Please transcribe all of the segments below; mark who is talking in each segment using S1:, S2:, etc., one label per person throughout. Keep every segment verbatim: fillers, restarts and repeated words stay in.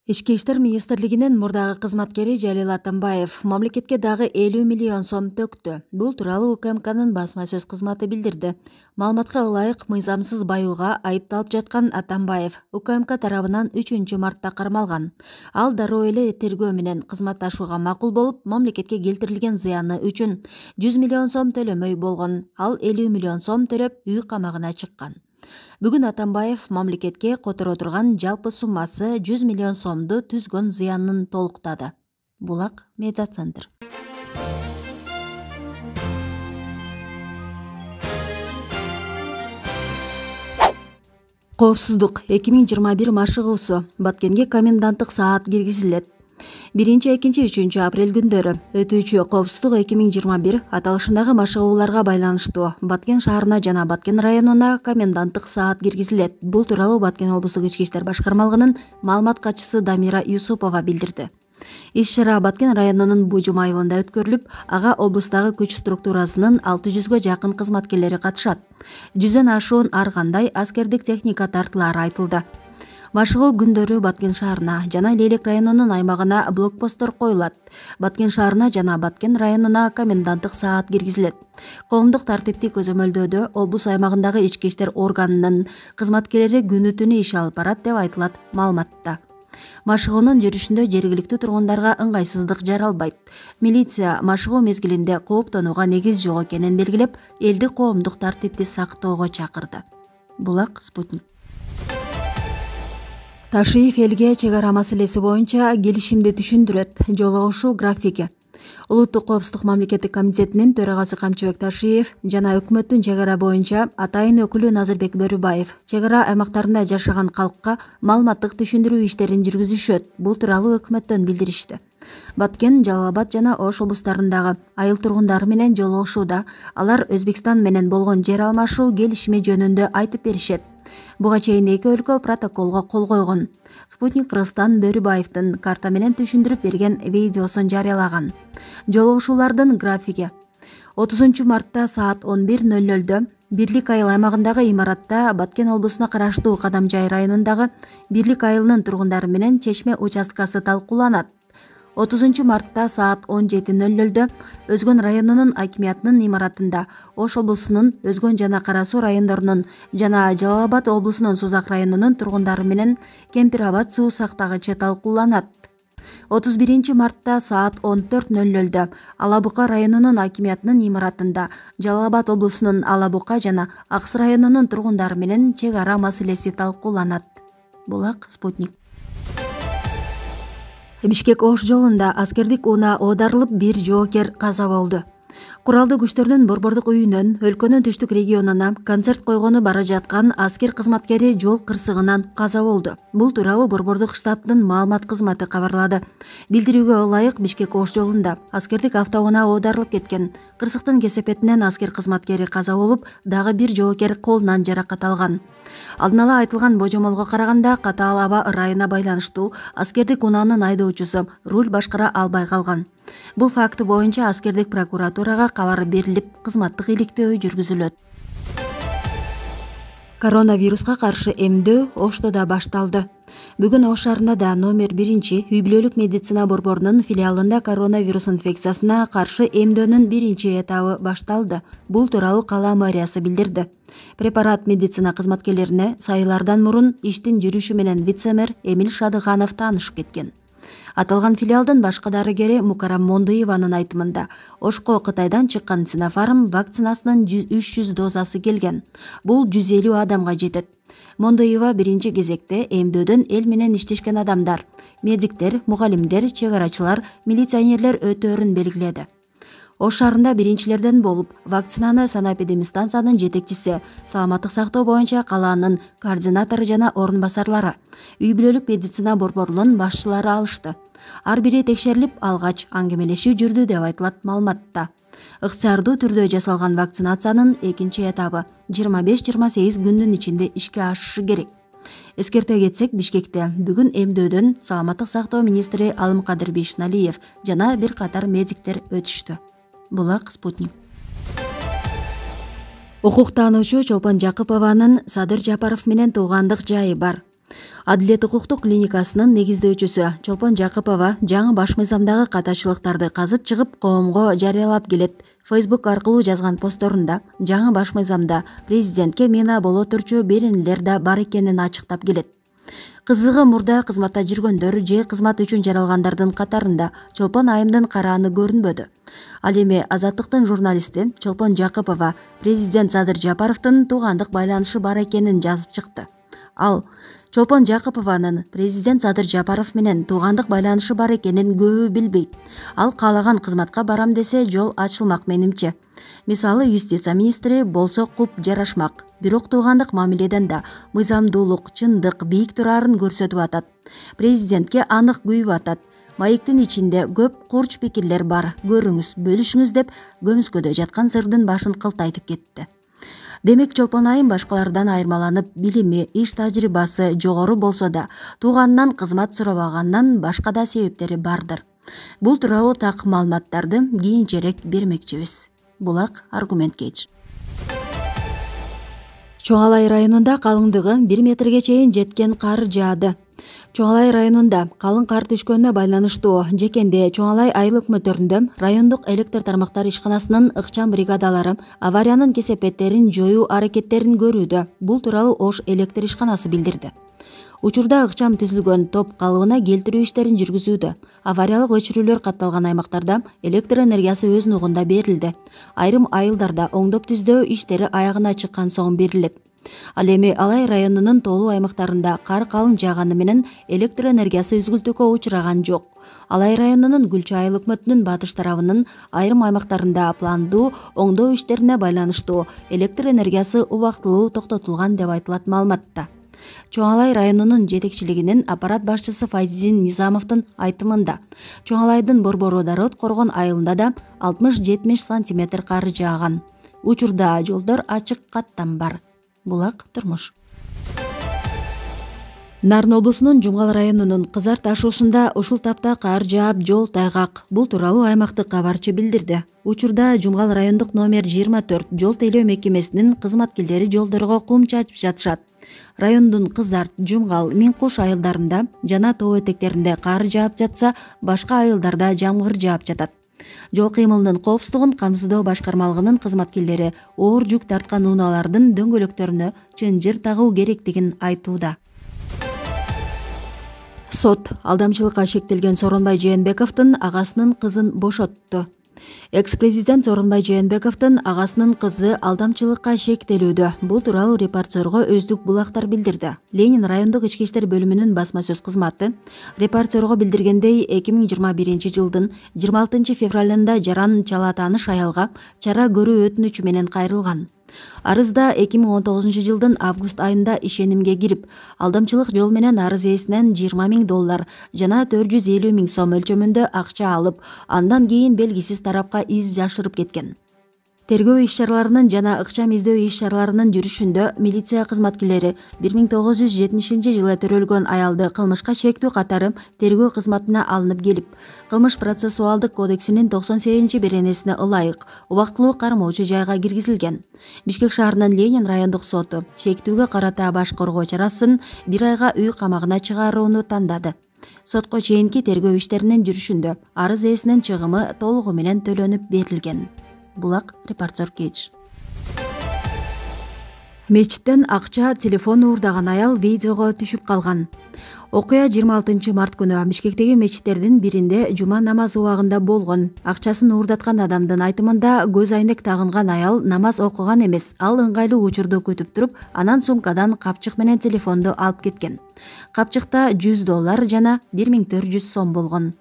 S1: Ички иштер министрлигинин мурдагы кызматкери Жалил Атамбаев мамлекетке дагы элүү миллион сом төктү. Бул тууралуу УКМКнын басма сөз кызматы билдирди. Маалыматка ылайык, мыйзамсыз баюуга айыпталып жаткан Атамбаев УКМК тарабынан үчүнчү мартта кармалган. Ал дароо эле тергөө менен кызматташууга макул болуп, мамлекетке келтирилген зыяны үчүн жүз миллион сом төлөмөй болгон. Ал элүү миллион сом төлөп үй камагына чыккан. Бүгүн Атамбаев мамлекетке которо турган жалпы суммасы жүз миллион сомду түзгөн зыянын толуктады. Булак медиа центр. Коопсуздук эки миң жыйырма бир машыгуусу Баткенге коменданттык саат киргизилет. биринчи, экинчи, үчүнчү апрель күндөрү өтүүчү коопсуздук эки миң жыйырма бир аталышындагы машыгууларга байланыштуу Баткен шаарына жана Баткен районуна коменданттык саат киргизилет. Бул тууралуу Баткен облустук ички иштер башкармалыгынын маалымат катчысы Дамира Юсупова билдирди. Иш-чара Баткен районунун Бужум айылында өткөрүлүп, ага облустагы күч структурасынын алты жүзгө жакын кызматкерлери катышат. Жүздөн ашуун ар кандай аскердик техника тартылары айтылды. Машыгуу күндөрү Баткен шаарына жана Лелек районунун аймагына блокпосттор коюлат. Баткен шаарына жана Баткен районуна коменданттык саат киргизилет. Коомдук тартипти көзөмөлдөөдө облус аймагындагы ички иштер органынын кызматкерлери күнү түнү иш алып барат деп айтылат маалыматта. Машыгуунун жүрүшүндө жергиликтүү тургундарга ыңгайсыздык жаралбайт. Милиция машыгуу мезгилинде кооптонууга негиз жок экенин белгилеп, элди коомдук тартипти сактоого чакырды. Булак Спутник. Ташиев элге чек ара маселеси боюнча келишимди түшүндүрөт. Жолугушуу графики. Улуттук коопсуздук мамлекеттик комитетинин төрагасы Камчыбек Ташиев жана өкмөттүн чек ара боюнча атайын өкүлү Назырбек Бөрүбаев чек ара аймактарында жашаган калкка маалыматтык түшүндүрүү иштерин жүргүзүшөт. Бул тууралуу өкмөттөн билдиришти. Баткен, Жалал Абад жана Ош облустарындагы айыл тургундары менен жолугушууда алар Өзбекстан менен болгон жер алмашуу келишими жөнүндө айтып беришет. Буга чейин эки өлкө протоколго кол койгон. Спутник Кыргызстан Бөрүбаевдин карта менен түшүндүрүп берген видеосун жарыялаган. Жолугушуулардын графиги. отузунчу мартта саат он бир ноль нольдө Бирлик айыл аймагындагы имаратта Баткен облусуна караштуу Кадамжай районундагы Бирлик айылынын тургундары менен чечме участкасы талкууланат. отузунчу мартта саат он жети ноль нольдө Өзгөн районунун акимиятынын имаратында Ош облусунун Өзгөн жана Кара Суу райондорунун жана Жалал Абад облусунун Сузак районунун тургундары менен Кемпир Абад суу сактагычы талкууланат. отуз биринчи мартта саат он төрт ноль нольдө Ала Бука районунун акимиятынын имаратында Жалал Абад облусунун Ала Бука жана Акс районунун тургундары менен чек ара маселеси талкууланат. Булак Спутник. Бишкек Ош жолунда аскердик унаа оодарылып, бир жоокер каза болду. Куралдуу күчтөрдүн борбордук үйүнөн өлкөнүн түштүк регионуна концерт койгону бара жаткан аскер кызматкери жол кырсыгынан каза болду. Бул тууралуу борбордук штабтын маалымат кызматы кабарлады. Билдирүүгө ылайык, Бишкек Ош жолунда аскердик автоунаа оодарылып кеткен. Кырсыктын кесепетинен аскер кызматкери каза болуп, дагы бир жоокер колунан жаракат алган. Алдын ала айтылган божомолго караганда катаал аба ырайына байланыштуу аскердик унаанын айдоочусу руль башкара албай калган. Бул факты боюнча аскердик прокуратурага кабар берилип, кызматтык иликтөө жүргүзүлөт. Коронавируска каршы эмдөө Ошто да башталды. Бүгүн Ош шаарында да номер биринчи үй бүлөлүк медицина борборунун филиалында коронавирус инфекциясына каршы эмдөөнүн биринчи этабы башталды. Бул тууралуу кала мэриясы билдирди. Препарат медицина кызматкерлерине сайылардан мурун иштин жүрүшү менен вице-мэр Эмил Шадыханов таанышып кеткен. Аталган филиалдын башкы дарыгери Мукарам Мондуеванын айтымында Ошко Кытайдан чыккан Синофарм вакцинасынын үч жүз дозасы келген. Бул жүз элүү адамга жетет. Мондуева биринчи кезекте эмдөөдөн эл менен иштешкен адамдар, медиктер, мугалимдер, чек арачылар, милиционерлер өтөөрүн белгиледи. Ош шаарында биринчилерден болуп, вакцинаны санэпидемстанциянын жетекчиси, саламаттык сактоо боюнча калаанын координатору жана орун басарлары, үй бүлөлүк медицина борборунун башчылары алышты. Ар бири текшерилип, алгач аңгемелешүү жүрдү деп айтылат маалыматта. Ыктыярдуу түрдө жасалган вакцинациянын экинчи этабы жыйырма беш жыйырма сегиз күндүн ичинде ишке ашышы керек. Эскерте кетсек, Бишкекте бүгүн эмдөөдөн саламаттык сактоо министри Алымкадыр Бейшналиев жана бир катар медиктер өтүштү. Булак Спутник. Укуктануучу Чолпон Жакыпованын Садыр Жапаров менен туугандык жайы бар. Адилет укуктук клиникасынын негиздөөчүсү Чолпон Жакыпова жаңы баш мыйзамдагы катачылыктарды казып чыгып коомго жарыялап келет. Facebook аркылуу жазган постторунда жаңы баш мыйзамда президентке мина боло турчу беренелер да бар экенин ачыктап келет. Кызыгы мурда кызматта жүргөндөр же кызмат үчүн жаралгандардын катарында Чолпон айымдын карааны көрүнбөдү. Ал эми Азаттыктын журналисти Чолпон Жакыпова президент Садыр Жапаровдун туугандык байланышы бар экенин жазып чыкты. Ал Чолпон Жакыпованын президент Садыр Жапаров менен туугандык байланышы бар экенин көбү билбейт. Ал каалаган кызматка барам десе жол ачылмак менимче. Мисалы, юстиция министри болсо куп жарашмак. Бирок туугандык мамиледен да мыйзамдуулук, чындык бийик турарын көрсөтүп атат. Президентке анык күйүп атат. Маектин ичинде көп курч пикирлер бар. Көрүңүз, бөлүшүңүз деп көмүскөдө жаткан сырдын башын кылтайтып кетти. Демек Чолпон айым башкалардан айырмаланып, билими, иш тажрыйбасы жогору болсо да, тууганынан кызмат сурабагандан башка да себептери бардыр. Бул тууралуу так маалыматтарды кийинчерээк бермекчибиз. Булак аргумент кеч. Чоң Алай районунда калыңдыгы бир метрге чейин жеткен кар жаады. Чоң Алай районунда калың кар түшкөнүнө байланыштуу Жекенде Чоң Алай айыл өкмөттөрүндө райондук электр тармактар ишканасынын ыкчам бригадалары авариянын кесепеттерин жоюу аракеттерин көрүүдө. Бул тууралуу Ош электр ишканасы билдирди. Учурда ыкчам түзүлгөн топ калыбына келтирүү иштерин жүргүзүүдө. Авариялык өчүрүүлөр катталган аймактарда электр энергиясы өз нугунда берилди. Айрым айылдарда оңдоп түздөө иштери аягына чыккан соң берилет. Ал эми Алай районунун тоолуу аймактарында кар калың жааганы менен электр энергиясы үзгүлтүүгө учураган жок. Алай районунун Гүлчү айыл өкмөтүнүн батыш тарабынын айрым аймактарында пландуу оңдоо иштерине байланыштуу электр энергиясы убактылуу токтотулган деп айтылат маалыматта. Чоң Алай районунун жетекчилигинин аппарат башчысы Файзин Низамовдун айтымында, Чоң Алайдын Борбору Дарот Коргон айылында да алтымыш жетимиш сантиметр кар жааган. Учурда жолдор ачык каттам бар. Булак турмуш. Нарын облусунун Жумгал районунун Кызар ташуусунда ушул тапта кар жаап жол тайгак. Бул тууралуу аймактык кабарчы билдирди. Учурда Жумгал райондук номер жыйырма төрт жол тейлөө мекемесинин кызматкерлери жолдорго кум чачып жатышат. Райондун Кызар, Жумгал, Миңкуш айылдарында жана тоо этектеринде кар жаап жатса, башка айылдарда жамгыр жаап жатат. Жол кыймылынын коопсуздугун камсыздоо башкармалыгынын кызматкерлери оор жүк тарткан унаалардын дөңгөлөктөрүнө чынжыр тагуу керектигин айтууда. Сот алдамчылыкка шектелген Сооронбай Жээнбековдун агасынын кызын бошотту. Экс-президент Сооронбай Жээнбековдун агасынын кызы алдамчылыкка шектелүүдө. Бул тууралуу репортерго өздүк булактар билдирди. Ленин райондук ички иштер бөлүмүнүн басма сөз кызматы репортерго билдиргендей, эки миң жыйырма биринчи жылдын жыйырма алтынчы февралында Жаран Чала тааныш аялга чара көрүү өтүнүчү менен кайрылган. Арызда эки миң он тогузунчу жылдын август айында ишенимге кирип, алдамчылык жол менен арыз ээсинен жыйырма миң доллар жана төрт жүз элүү миң сом өлчөмүндө акча алып, андан кийин белгисиз тарапка из жашырып кеткен. Тергөө иш-чараларынын жана ыкчам издөө иш-чараларынын жүрүшүндө милиция кызматкерлери бир миң тогуз жүз жетимишинчи жылы төрөлгөн аялды кылмышка шектүү катары тергөө кызматына алынып келип, Кылмыш процессуалдык кодексинин токсон сегизинчи беренесине ылайык убактылуу кармоочу жайга киргизилген. Бишкек шаарынын Ленин райондук соту шектүүгө карата баш коргоо чарасын бир айга үй камагына чыгарууну тандады. Сотко чейинки тергөө иштеринин жүрүшүндө арыз ээсинин чыгымы толугу менен төлөнүп берилген. Булак репортер кеч. Мечиттен акча, телефон уурдаган аял видеого түшүп калган. Окуя жыйырма алтынчы март күнү Бишкектеги мечиттердин биринде жума намаз убагында болгон. Акчасын уурдаткан адамдын айтымында көз айнек тагынган аял намаз окуган эмес, ал ыңгайлуу учурду күтүп туруп, анан сумкадан капчык менен телефонду алып кеткен. Капчыкта жүз доллар жана бир миң төрт жүз сом болгон.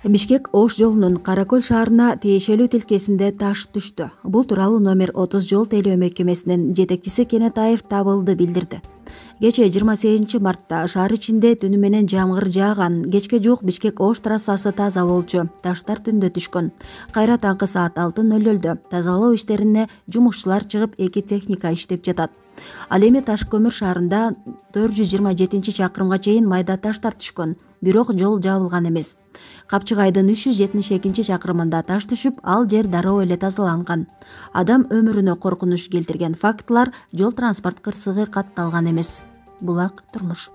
S1: Бишкек Ош жолунун Каракөл шаарына тиешелүү тилкесинде таш түштү. Бул тууралуу номер отуз жол тейлөө мекемесинин жетекчиси Кенетаев Табылды билдирди. Кечээ жыйырма сегизинчи мартта шаар ичинде түнү менен жамгыр жааган. Кечке жуук Бишкек Ош трассасы таза болчу. Таштар түндө түшкөн. Кайра таңкы саат алты ноль нольдө тазалоо иштерине жумушчулар чыгып, эки техника иштеп жатат. Ал эми Таш көмүр шаарында төрт жүз жыйырма жетинчи чакырымга чейин майда таштар түшкөн, бирок жол жабылган эмес. Капчыгайдын үч жүз жетимиш экинчи чакырымында таш түшүп, ал жер дароо эле тазаланган. Адам өмүрүнө коркунуч келтирген фактылар, жол транспорт кырсыгы катталган эмес. Булак турмуш.